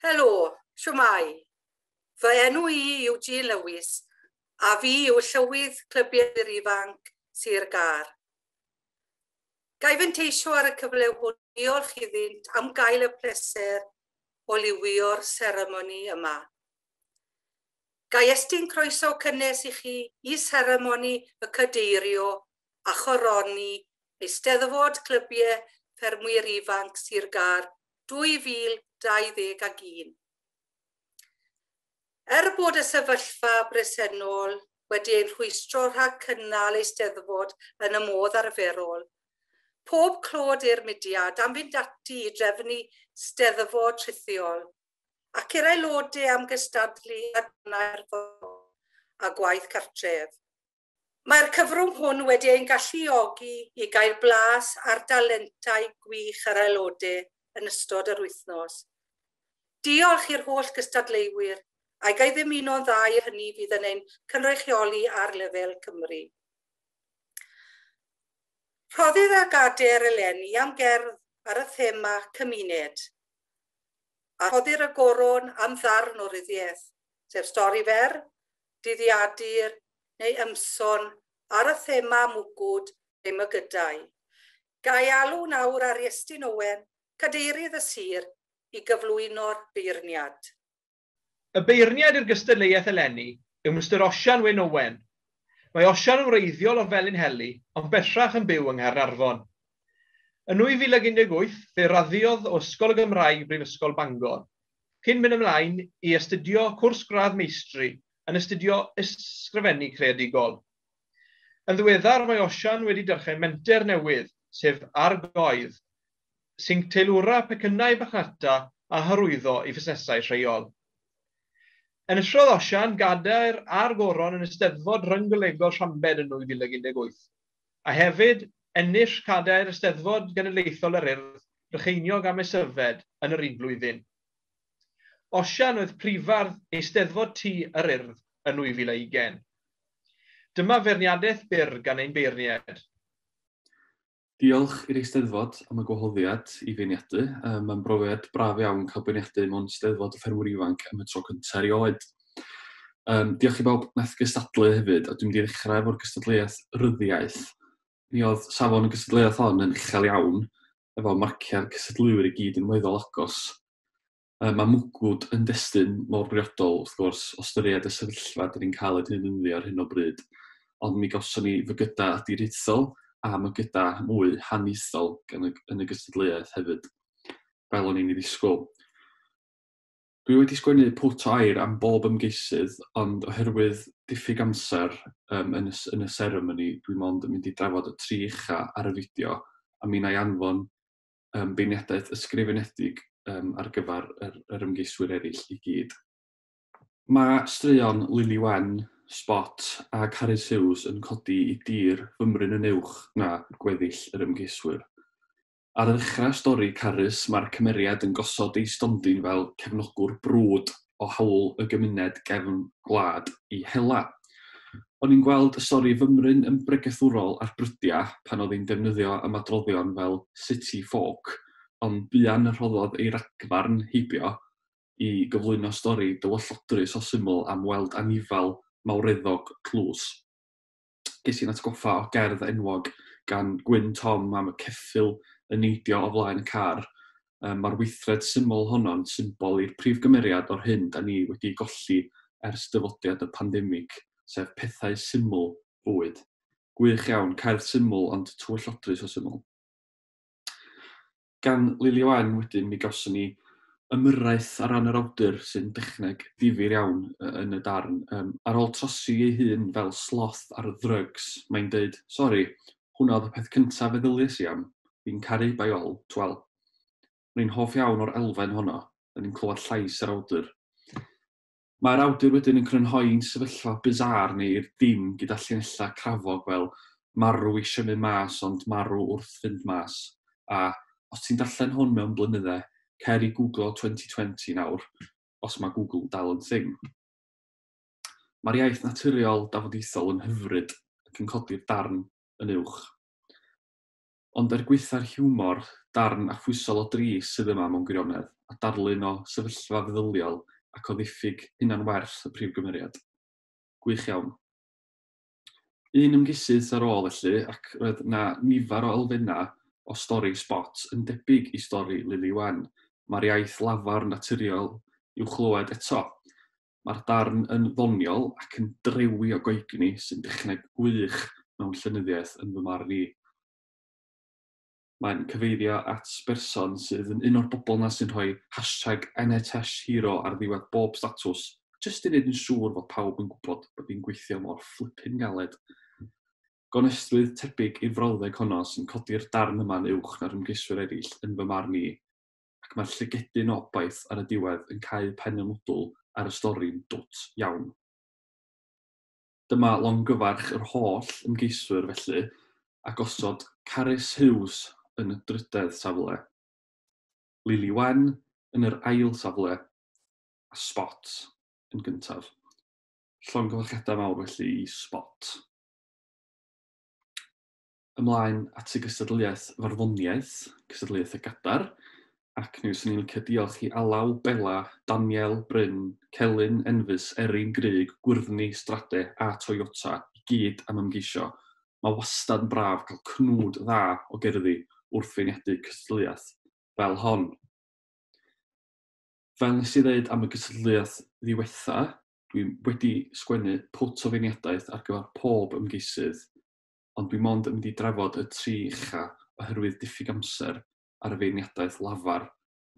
Helo, shwmae? Fy enw i yw Jean Lewis a fi yw Llywydd Clybiau'r Ifanc Sir Gâr. Ga i fanteisio ar y cyfle hwn i diolch iddynt am gael y pleser o liwio'r seremoni yma. Ga i estyn croeso cynnes i chi i seremoni y cadeirio a choroni Eisteddfod Clybiau Ffermwyr Ifanc Sir Gâr 2021. Er bod y sefyllfa bresennol wedi ein rhwystro rhag cynnal Eisteddfod yn y modd arferol, pob clod i'r mudiad am fynd ati i drefnu Steddfod rhithiol ac i'r aelodau am gystadlu a gwaith cartref. Mae'r cyfrwng hwn wedi ein galluogi i gael blas ar dalentau gwych yr aelodau yn ystod yr wythnos. Diolch i'r holl gystadleuwyr, a ga i ddymuno'n dda i hynny fydd yn ein cynrychioli ar lefel Cymru. Rhoddir y gadair eleni am gerdd ar y thema cymuned, a rhoddir y goron am ddarn o ryddiaeth, sef stori fer, dyddiadur neu ymson ar y thema mwgwd neu mygydau. Ga i alw nawr ar Iestyn Owen, cadeirydd y sir, i gyflwyno'r beirniad. Y beirniad i'r gystadleuaeth eleni yw Mr Osian Wyn Owen. Mae Osian yn wreiddiol o Felinheli, ond bellach yn byw yng Nghaernarfon. Yn 2018, fe raddiodd o Ysgol y Gymraeg Brifysgol Bangor, cyn mynd ymlaen i astudio cwrs gradd meistri yn astudio ysgrifennu creadigol. Yn ddiweddar, mae Osian wedi dechrau menter newydd, sef Argoedd, sy'n teilwra pecynnau marchnata a hyrwyddo i fusnesau lleol. Enillodd Osian gadair a'r goron yn Eisteddfod Rhyng-golegol Llambed yn 2018, a hefyd ennill cadair Eisteddfod Genedlaethol yr Urdd, Brycheiniog a Maesyfed yn yr un flwyddyn. Osian oedd prifardd Eisteddfod Tŷ yr Urdd yn 2020. Dyma feirniadaeth byr gan ein beirniaid. Diolch i'r Eisteddfod am y gwahoddiad i feirniadu. Mae'n brofiad braf iawn cael beirniadu mewn Steddfod y Ffermwyr Ifanc am y tro cyntaf erioed. Diolch i bawb wnaeth gystadlu hefyd, a dwi'n mynd i ddechrau efo'r gystadleuaeth ryddiaith. Mi oedd safon y gystadleuaeth hon yn uchel iawn, efo marciau'r cystadleuwyr i gyd yn weddol agos. Mae mwgwd yn destun mor briodol, wrth gwrs, o ystyried y sefyllfa dan ni'n cael ei defnyddio ar hyn o bryd, ond mi gawson ni fygydau diriaethol a mygydau mwy haniaethol yn y gystadleuaeth hefyd, fel o'n i'n ei ddisgwyl. Dwi wedi sgwennu pwt o air am bob ymgeisydd, ond oherwydd diffyg amser yn y seremoni, dwi mond yn mynd i drafod y tri ucha ar y fideo, a mi wna i anfon beirniadaeth ysgrifenedig ar gyfer yr ymgeiswyr eraill i gyd. Mae straeon Lili Wen, Spot a Carys Hughes yn codi i dir fymryn yn uwch na gweddill yr ymgeiswyr. Ar ddechrau stori Carys, mae'r cymeriad yn gosod ei stondin fel cefnogwr brwd o hawl y gymuned gefn gwlad i hela. O'n i'n gweld y stori fymryn yn bregethwrol ar brydiau pan oedd hi'n defnyddio ymadroddion fel city folk, ond buan y rhoddodd ei ragfarn heibio i gyflwyno stori dywyllodrus o syml am weld anifal mawreddog tlws. Ges i'n atgoffa o gerdd enwog gan Gwyn Tom am y ceffyl yn neidio o flaen y car. Mae'r weithred syml honno'n symbol i'r prif gymeriad o'r hyn da ni wedi golli ers dyfodiad y pandemig, sef pethau syml bywyd. Gwych iawn, cerdd syml ond tywyllodrus o syml. Gan Lili Owen wedyn mi gawson ni ymyrraeth ar ran yr awdur sy'n dechneg difyr iawn yn y darn. Ar ôl trosi ei hun fel sloth ar ddrygs, mae'n deud, "Sori, hwnna oedd y peth cyntaf feddyliais i am, fi'n caru by all, twel." Rwy'n hoff iawn o'r elfen honno, da ni'n clywed llais yr awdur. Mae'r awdur wedyn yn crynhoi'n sefyllfa bizarre ni i'r dim gyda llinellau crafog fel "marw eisiau mynd mas ond marw wrth fynd mas", a os ti'n darllen hwn mewn blynydde, cer i Googlo 2020 nawr, os mae Google dal yn thing. Mae'r iaith naturiol dafodieithol yn hyfryd ac yn codi'r darn yn uwch. Ond er gwaetha'r hiwmor, darn affwysol o dris sydd yma mewn gwirionedd, a darlun o sefyllfa feddyliol ac o ddiffyg hunanwerth y prif gymeriad. Gwych iawn. Un ymgeisydd ar ôl felly, ac roedd 'na nifer o elfennau o stori Spot yn debyg i stori Lili Wen. Mae'r iaith lafar naturiol i'w chlywed eto. Mae'r darn yn ddoniol ac yn drewi o goegni sy'n dechneg gwych mewn llenyddiaeth yn fy marn i. Mae'n cyfeirio at berson sydd yn un o'r bobl 'na sy'n rhoi hashtag #NHSHero ar ddiwedd bob statws, jyst i wneud yn siŵr fod pawb yn gwybod bod hi'n gweithio mor flippin' galed. Gonestrwydd tebyg i'r frawddeg honno sy'n codi'r darn yma'n uwch na'r ymgeiswyr eraill yn fy marn i, ac mae'r llygedyn o obaith ar y diwedd yn cau pen y mwdwl ar y stori'n dwt iawn. Dyma longyfarch yr holl ymgeiswyr felly, a gosod Carys Hughes yn y drydedd safle, Lili Wen yn yr ail safle, a Spot yn gyntaf. Llongyfarchiadau mawr felly i Spot. Ymlaen at y gystadleuaeth farddoniaeth, cystadleuaeth y Gadar, ac mi fyswn i'n licio diolch i Alaw, Bela, Daniel, Bryn, Celyn, Enfys, Erin, Grug, Gwyrddni, Strade a Toyota i gyd am ymgeisio. Mae wastad yn braf cael cnwd dda o gerddi wrth feirniadu cystadleuaeth fel hon. Fel nes i ddeud am y gystadleuaeth ddiwetha, dwi wedi sgwennu pwt o feirniadaeth ar gyfer pob ymgeisydd, ond dwi mond yn mynd i drafod y tri ucha oherwydd diffyg amser ar y feirniadaeth lafar.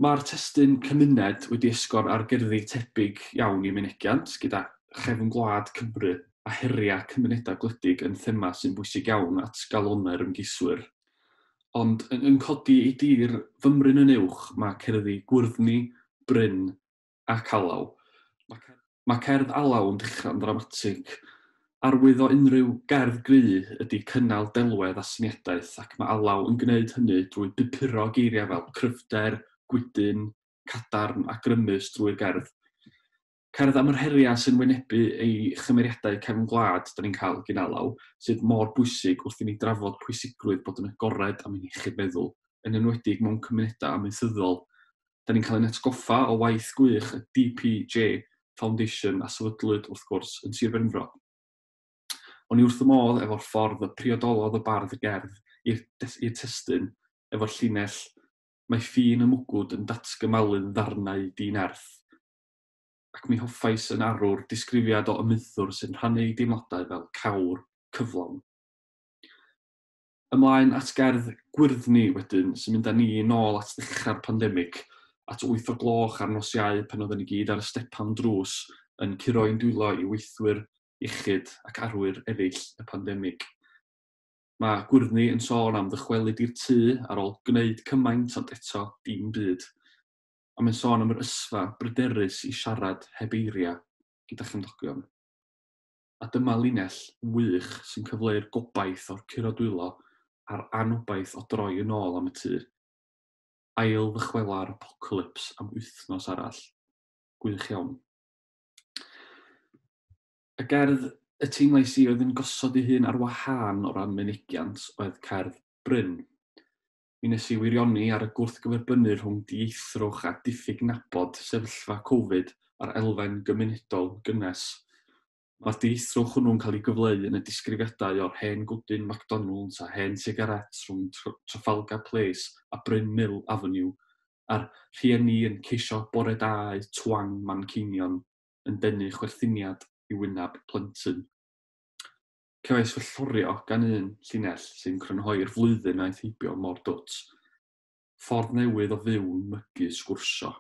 Mae'r testun cymuned wedi esgor ar gerddi tebyg iawn i Mynegiant, gyda chefn gwlad Cymru a heriau cymunedau gwledig yn thema sy'n bwysig iawn at galonnau'r ymgeiswyr. Ond yn, yn codi ei dir fymryn yn uwch mae cerddi Gwyrddni, Bryn ac Alaw. Mae, mae cerdd Alaw yn dechrau'n ddramatig. Arwydd o unrhyw gerdd gry ydy cynnal delwedd a syniadaeth, ac mae Alaw yn gwneud hynny drwy bupuro geiriau fel cryfder, gwydyn, cadarn a grymus drwy'r gerdd. Cerdd am yr heriau sy'n wynebu ei chymeriadau cefn gwlad da ni'n cael gyn Alaw, sydd mor bwysig wrth i ni drafod pwysigrwydd bod yn agored am ein iechyd meddwl, yn enwedig mewn cymunedau amaethyddol. Da ni'n cael ein atgoffa o waith gwych y DPJ Foundation a sefydlwyd, wrth gwrs, yn Sir Benfro. O'n i wrth y modd efo'r ffordd y priodolodd y bardd y gerdd i'r testun, efo'r llinell "Mae ffin y mwgwd yn datgymalu'n ddarnau di-nerth", ac mi hoffais yn arwr disgrifiad o ymyddwr sy'n rhannu ei deimladau fel cawr cyflawn. Ymlaen at gerdd Gwyrddni wedyn, sy'n mynd â ni nôl at ddechrau'r pandemig, at 8 o gloch ar nos Iau pan oedden ni gyd ar y stepan drws yn curo ein dwylo i weithwyr iechyd ac arwyr eraill y pandemig. Mae Gwyrddni yn sôn am ddychwelyd i'r tŷ ar ôl gwneud cymaint ond eto dim byd. A mae'n sôn am yr ysfa bryderus i siarad heb eiriau gyda chymdogion. A dyma linell wych sy'n cyfleu'r gobaith o'r curo dwylo a'r anobaith o droi yn ôl am y tŷ. Ail ddychwela'r apocalypse am wythnos arall. Gwych iawn. Y gerdd y teimlais i oedd yn gosod ei hun ar wahân o ran mynegiant oedd cerdd Bryn. Mi nes i wirioni ar y gwrthgyferbynnu rhwng dieithrwch a diffyg nabod sefyllfa Covid a'r elfen gymunedol gynnes. Mae'r dieithrwch hwnnw'n cael ei gyfleu yn y disgrifiadau o'r hen gwdyn McDonald's a hen sigaret rhwng Trafalgar Place a Bryn Mill Avenue, a'r rhieni yn ceisio bore da eu twang Manceinion yn denu chwerthiniad i wyneb plentyn. Cefais fy llorio gan un llinell sy'n crynhoi'r flwyddyn aeth heibio mor dwt. Ffordd newydd o fyw'n mygu sgwrsio.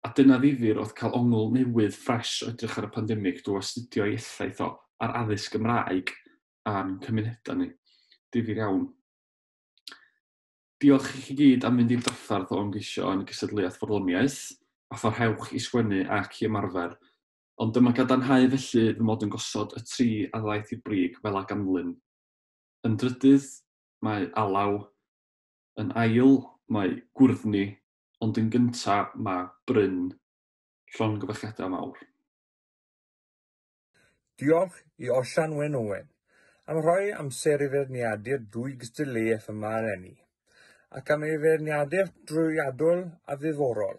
A dyna ddifyr oedd cael ongl newydd ffres o edrych ar y pandemig drwy astudio ei effaith o ar addysg Gymraeg a'n cymunedau ni. Difyr iawn. Diolch i chi gyd am fynd i'r drafferth o ymgeisio yn y gystadleuaeth farddoniaeth, a pharhewch i sgwennu ac i ymarfer. Ond dyma gadarnhau felly fy mod yn gosod y tri a ddaeth i'r brig fel a ganlyn. Yn drydydd, mae Alaw. Yn ail, mae Gwyrddni. Ond yn gyntaf, mae Bryn. Llongyfarchiadau mawr. Diolch i Osian Wyn Owen am rhoi amser i feirniadu'r dwy gystadleuaeth yma eleni, ac am ei feirniadaeth drwyadl a ddiddorol.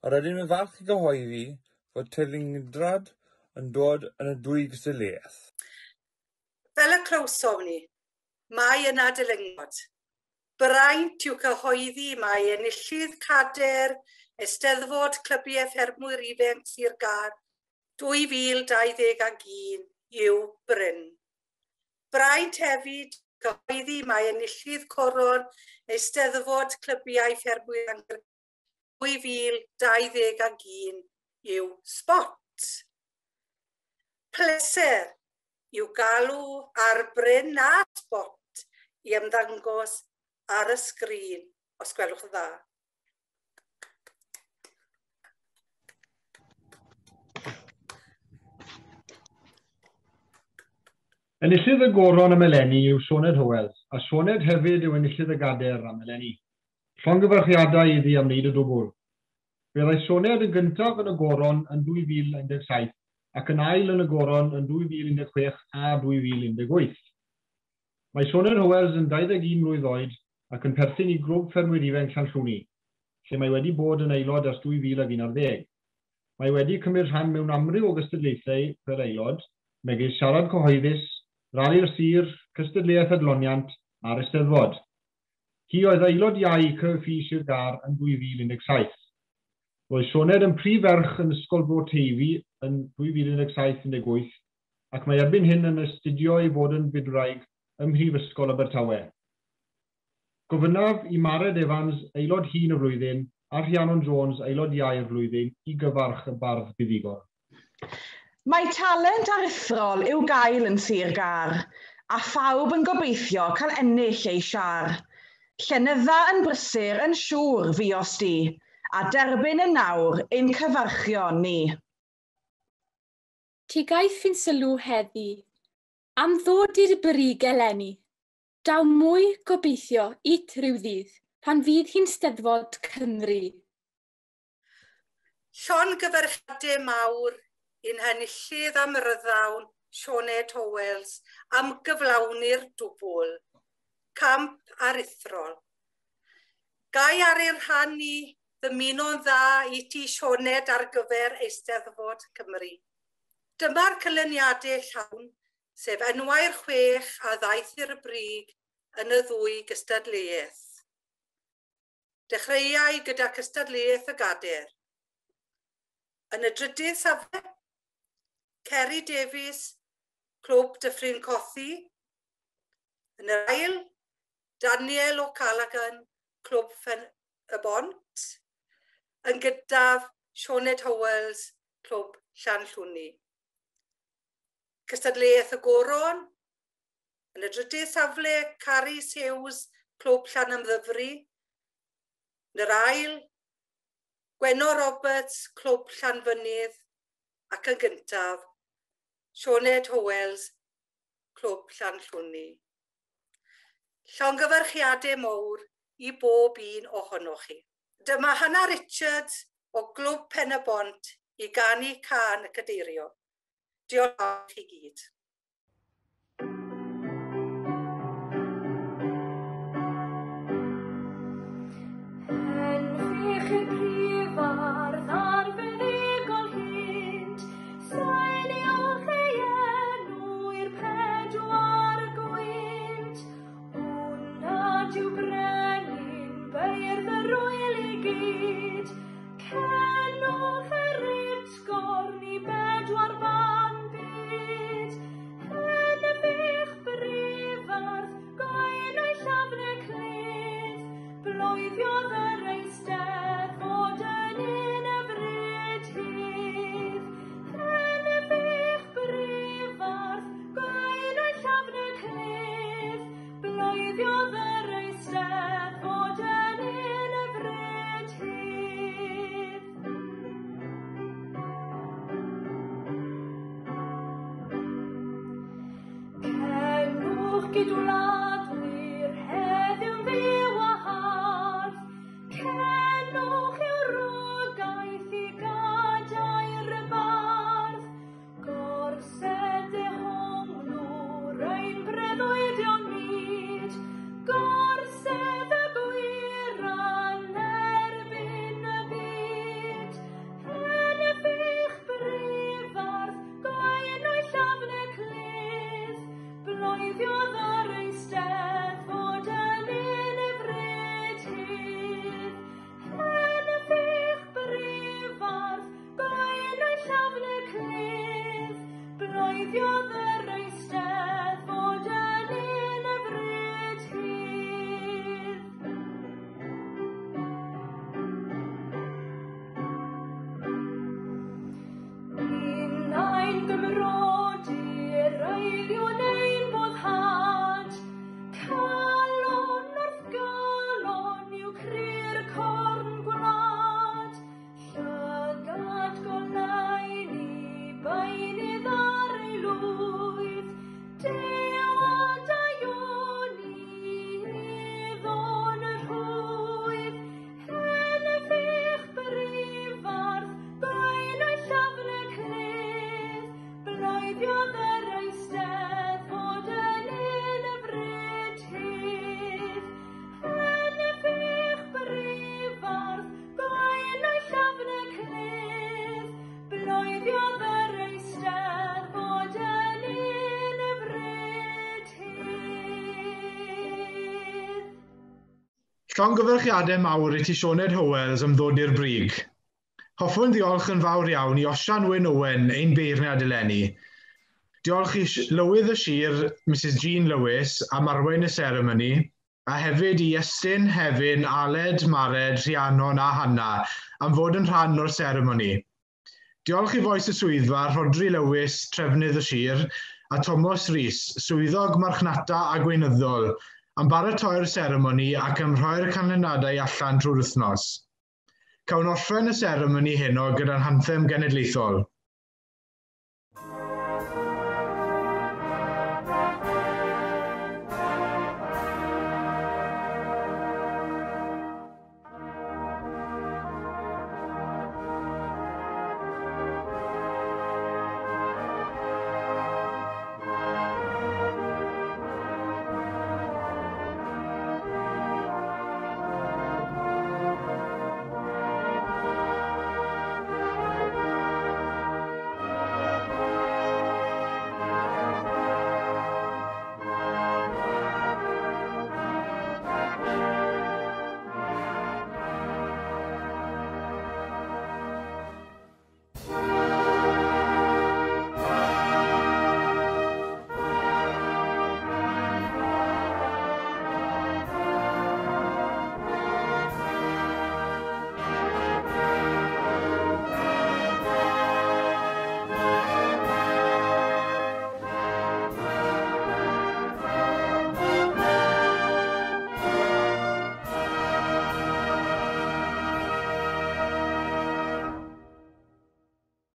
Yr ydym yn falch i gyhoeddi fod teilyngdad yn dod yn y dwy gystadleuaeth. Fel y clywsom ni, mae yna dylungod. Braint yw cyhoeddi mae enillydd cader Eisteddfod Clybiau Ffermwyr Ifanc Sir Gâr 2021 yw Bryn. Braint hefyd cyhoeddi mae enillydd coron Eisteddfod Clybiau Ffermwyr Ifanc 2021 yw Spot. Pleser yw galw ar Bryn a Spot i ymddangos ar y sgrin, os gwelwch yn dda. Enillydd y goron am eleni yw Sioned Howells, a Sioned hefyd yw enillydd y gader am eleni. Llongyfarchiadau iddi am wneud y dwbl. Fe ddaeth Sioned yn gyntaf yn y goron yn 2017 ac yn ail yn y goron yn 2016 a 2018. Mae Sioned Howells yn 21 mlwydd oed ac yn perthyn i Grŵp Ffermwyr Ifanc Llanllwni, lle mae wedi bod yn aelod ers 2011. Mae wedi cymryd rhan mewn amryw o gystadlaethau fel aelod, megis siarad cyhoeddus, Rali'r Sir, Cystadleuaeth Adloniant a'r Eisteddfod. Hi oedd aelod iau CFI Sir Gâr yn 2017. Roedd Sioned yn prif ferch yn Ysgol Bro Teifi yn 2017-18 ac mae erbyn hyn yn astudio i fod yn fydwraig ym Mhrifysgol Abertawe. Gofynnaf i Mared Evans, aelod hŷn y flwyddyn, a Rhiannon Jones, aelod iau'r flwyddyn, i gyfarch y bardd buddugol. Mae talent aruthrol i'w gael yn Sir Gâr, a phawb yn gobeithio cael ennill ei siâr. Llenydda yn brysur yn siŵr fuost di, a derbyn yn nawr ein cyfarchion ni. Ti gaiff ein sylw heddi, am ddod i'r brig eleni. Daw mwy gobeithio it rhyw ddydd, pan fydd hi'n Steddfod Cymru. Llongyfarchiadau mawr i'n henillydd am ryddawn Sioned Howells am gyflawni'r dwbl, camp aruthrol. Gai ar ei rhan i ddymuno'n dda i ti Sioned ar gyfer Eisteddfod Cymru. Dyma'r canlyniadau llawn, sef enwau'r chwech a ddaeth i'r brig yn y ddwy gystadleuaeth. Dechreuai gyda cystadleuaeth y gader. Yn y drydydd safle, Kerry Davies, Clwb Dyffryn Cothi. Yn yr ail, Daniel O'Callaghan, Clwb Pen y Bont. Yn gyntaf, Sioned Howells, Clwb Llanllwni. Cystadleuaeth y Goron. Yn y drydydd safle, Carys Hughes, Clwb Llanymddyfri. Yn yr ail, Gwenno Roberts, Clwb Llanfynydd. Ac yn gyntaf, Sioned Howells, Clwb Llanllwni. Llongyfarchiadau mawr i bob un ohonoch chi. Dyma Hannah Richards o Glwb Pen y Bont i ganu cân y cadeirio. Diolch i gyd. Henffych y prifardd ar fuddugol hyd, seiliwch ei enw i'r pedwar gwynt. Hwn nad yw brenin beirdd yr ŵyl i gyd, cenwch yr utgorn i bedwar ban byd. Henffych brifardd goenau llafn y cledd, bloeddiodd yr Eisteddfod yn un hyfryd hydd. Henffych brifardd goenau llafn y cledd, bloeddiodd yr Eisteddfod yn un hyfryd hydd. Cenwch gydwladwyr heddiw'n fyw a hardd, cenwch yw'r rogaeth i gadair y bardd. Gorsedd dehonglwr Llongyfarchiadau mawr i ti Sioned Howells am ddod i'r brig. Hoffwn ddiolch yn fawr iawn i Osian Wyn Owen, ein beirniad eleni. Diolch i Lywydd y Sir, Mrs Jean Lewis, am arwain y seremoni, a hefyd i Iestyn, Hefin, Aled, Mared, Rhiannon a Hanna am fod yn rhan o'r seremoni. Diolch i fois y swyddfa, Rhodri Lewis, trefnydd y sir, a Thomas Rhys, swyddog marchnata a gweinyddol, am baratoi'r seremoni ac am rhoi'r canlyniadau allan trwy'r wythnos. Cawn orffen y seremoni heno gyda'n hanthem genedlaethol.